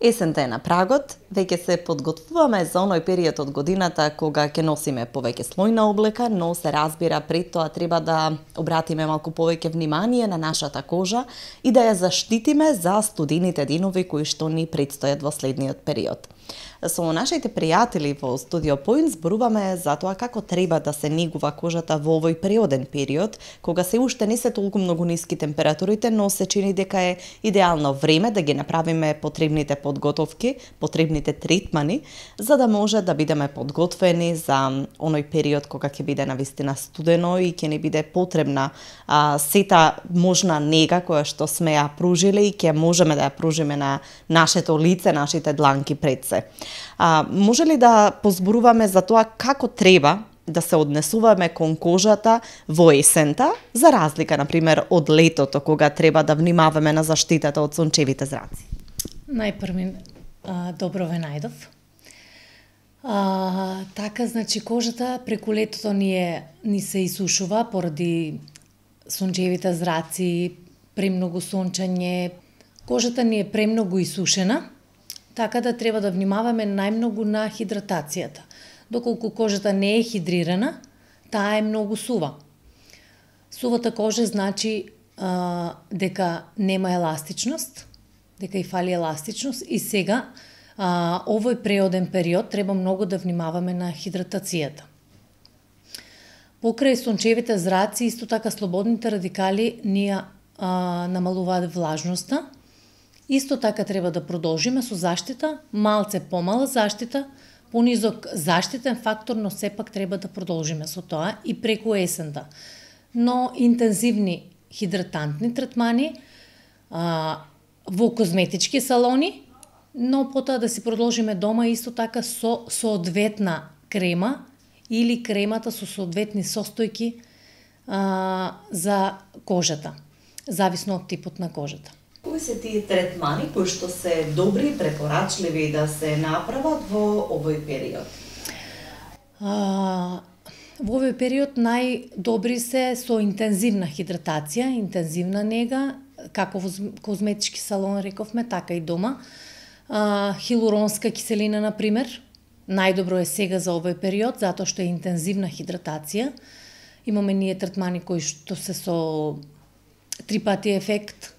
Есента е на прагот, веќе се подготвуваме за оној период од годината кога ќе носиме повеќе слојна облека, но се разбира пред тоа треба да обратиме малку повеќе внимание на нашата кожа и да ја заштитиме за студените денови кои што ни предстојат во следниот период. Со нашите пријатели во Студио Поинт зборуваме за тоа како треба да се негува кожата во овој природен период, кога се уште не се толку многу ниски температурите, но се чини дека е идеално време да ги направиме потребните подготовки, потребните третмани, за да може да бидеме подготвени за оној период кога ќе биде навистина студено и ќе ни биде потребна сета можна нега која што сме ја пружиле и ќе можеме да ја пружиме на нашето лице, нашите дланки пред се. Може ли да позборуваме за тоа како треба да се однесуваме кон кожата во есента, за разлика, например, од летото, кога треба да внимаваме на заштитата од сончевите зраци? Најпрви, добро ве најдов. Така, значи, кожата преку летото ни се исушува поради сончевите зраци, премногу сончање. Кожата ни е премногу исушена, така да треба да внимаваме најмногу на хидратацијата. Доколку кожата не е хидрирана, таа е многу сува. Сувата кожа значи дека нема еластичност, дека и фали еластичност и сега овој преоден период треба многу да внимаваме на хидратацијата. Покрај сончевите зраци, исто така слободните радикали ни намалуваат влажноста. Исто така треба да продолжиме со заштита, малце помала заштита, понизок заштитен фактор, но сепак треба да продолжиме со тоа и преку есента. Но интензивни хидратантни третмани во козметички салони, но потоа да си продолжиме дома исто така со соодветна крема или кремата со соодветни состојки за кожата, зависно од типот на кожата. Кои се тие третмани кои што се добри и препорачливи да се направат во овој период? Во овој период најдобри се со интензивна хидратација, интензивна нега, како во козметички салон рековме, така и дома. Хилуронска киселина, например, најдобро е сега за овој период, затоа што е интензивна хидратација. Имаме ние третмани кои што се со 3 пати ефект,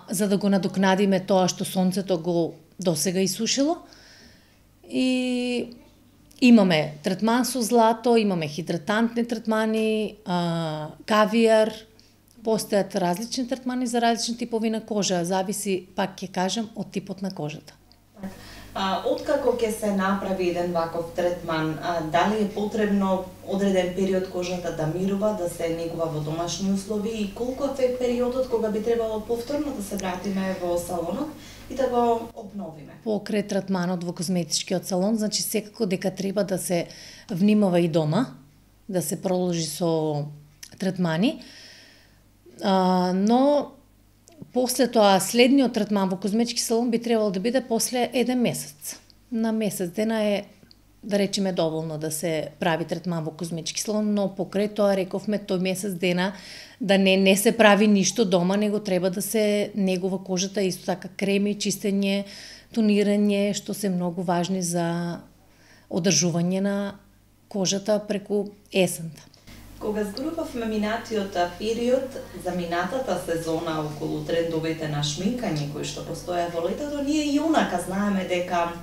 за да го надокнадиме тоа што сонцето го досега исушило. И имаме третман со злато, имаме хидратантни третмани, кавијар, постојат различни третмани за различни типови на кожа, зависи, пак ќе кажам, од типот на кожата. Откако ќе се направи еден ваков третман, дали е потребно одреден период кожата да мирува, да се негува во домашни услови и колку е периодот кога би требало повторно да се вратиме во салонот и да го обновиме? Покрај третманот во козметичкиот салон, значи секако дека треба да се внимава и дома, да се продолжи со третмани, но после тоа, следниот третман во козметички салон би требало да биде после 1 месец. На месец дена е, да речеме, доволно да се прави третман во козметички салон, но покрај тоа рековме тој месец дена да не се прави ништо дома, него треба да се негува кожата, исто така креми, чистење, тонирање, што се многу важни за одржување на кожата преку есента. Кога зборувавме минатиот период за минатата сезона околу трендовите на шминкање кои што постоја во летото, ние и онака знаеме дека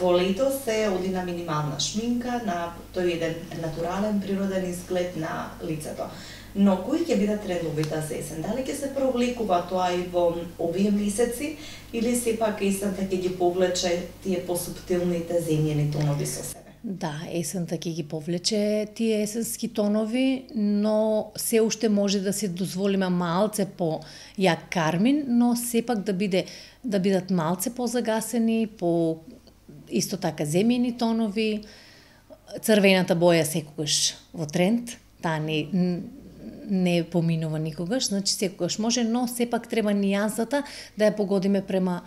во лето се оди на минимална шминка, на тој еден натурален природен изглед на лицето. Но кои ќе бидат трендовите за есен? Дали ќе се провлекува тоа и во овие месеци или сепак есента ќе ги повлече тие посуптилните земјени тонови со себе? Да, есента ќе ги повлече тие есенски тонови, но се уште може да се дозволиме малце по јак кармин, но сепак да бидат малце позагасени, по исто така земјени тонови. Црвената боја секогаш во тренд, таа не поминува никогаш, значи секогаш може, но сепак треба нијансата да ја погодиме према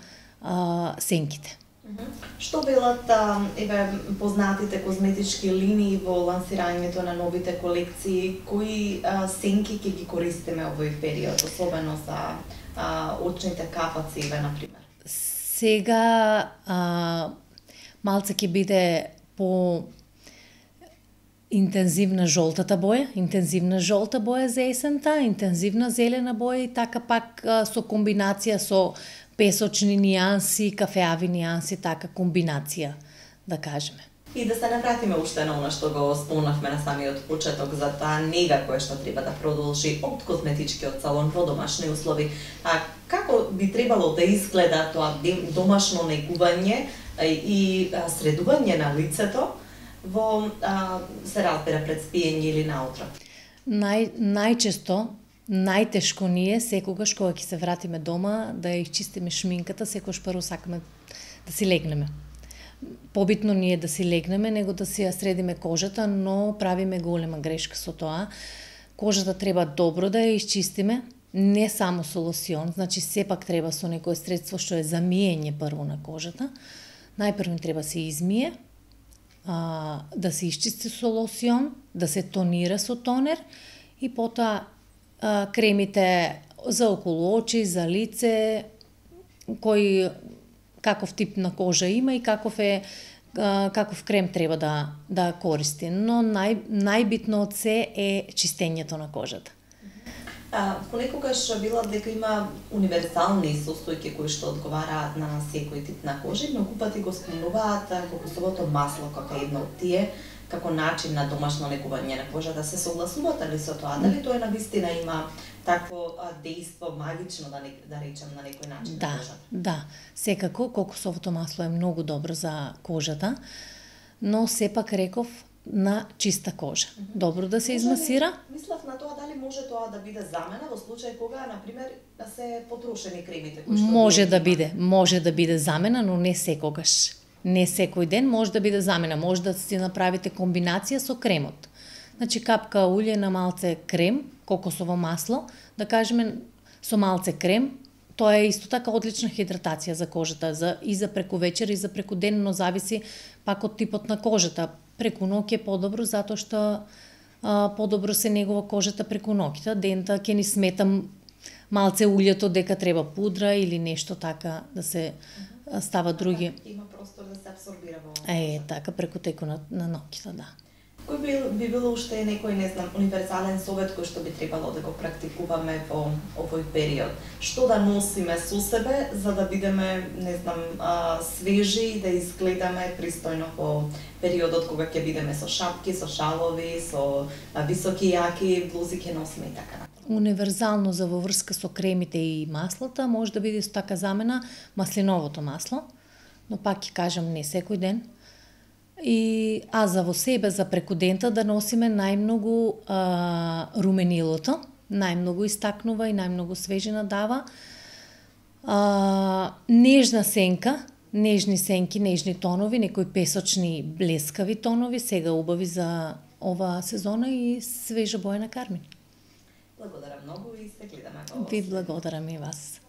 сенките. Што велат познатите козметички линии во лансирањето на новите колекции? Кои сенки ќе ги користиме овој период, особено за очните капаци, например? Сега малце ќе биде по интензивна жолтата боја за есента, интензивна зелена боја и така пак со комбинација со песочни нијанси, кафеави нијанси, така комбинација, да кажеме. И да се навратиме уште на она што го спомнавме на самиот почеток за таа нега која што треба да продолжи од козметичкиот салон во домашни услови. А како би требало да изгледа тоа домашно негување и средување на лицето во се разбира пред спиење или наутро? Најчесто, најтешко ни е секогаш кога ќе се вратиме дома да ја изчистиме шминката, секогаш прво сакаме да си легнеме. Побитно ни е да си легнеме него да си ја средиме кожата, но правиме голема грешка со тоа. Кожата треба добро да ја изчистиме, не само со лосион, значи сепак треба со некое средство што е за миење прво на кожата. Најпрво треба се измие, да се изчисти со лосион, да се тонира со тонер и потоа кремите за околу очи, за лице, кој каков тип на кожа има и каков крем треба да користи. Но најбитно од се е чистењето на кожата. Понекогаш било дека има универзални состојки кои што одговараат на секој тип на кожа, многу пати го спомнуваат кокосовото масло како едно од тие, како начин на домашно негување на кожата. Се согласувате ли со тоа? Дали тоа навистина има такво дејство магично, да речем, на некој начин на кожата? Да, секако кокосовото масло е многу добро за кожата, но сепак реков на чиста кожа. Добро да се измасира. Мислев на тоа дали може тоа да биде замена во случај кога, например, се потрошени кремите кои што може да биде замена, но не секогаш. Не секој ден може да биде замена. Може да си направите комбинација со кремот. Значи капка улје на малце крем, кокосово масло, да кажеме со малце крем, тоа е исто така одлична хидратација за кожата, и за преку вечер и за преку ден, но зависи пак од типот на кожата. Преку ноќ е подобро затоа што подобро се негува кожата преку ноќта. Дента ќе ни сметам малце улјето дека треба пудра или нешто така да се става други. Има простор да се абсорбира во кожата. Така преку теку на ноќта, да. Кој би било уште некој, не знам, универзален совет кој што би требало да го практикуваме во овој период? Што да носиме со себе за да бидеме, не знам, свежи и да изгледаме пристојно во периодот кога ќе бидеме со шапки, со шалови, со високи јаки блузи ќе носиме и така натаму? Универзално за во врска со кремите и маслата може да биде исто така замена маслиновото масло, но пак ќе кажам не секој ден. За во себе, за преку дента да носиме најмногу руменилото, најмногу истакнува и најмногу свежина дава. Нежна сенка, нежни сенки, нежни тонови, некои песочни блескави тонови, сега убави за ова сезона и свежа боја на кармин. Благодарам многу и се гледаме во Ви благодарам и вас.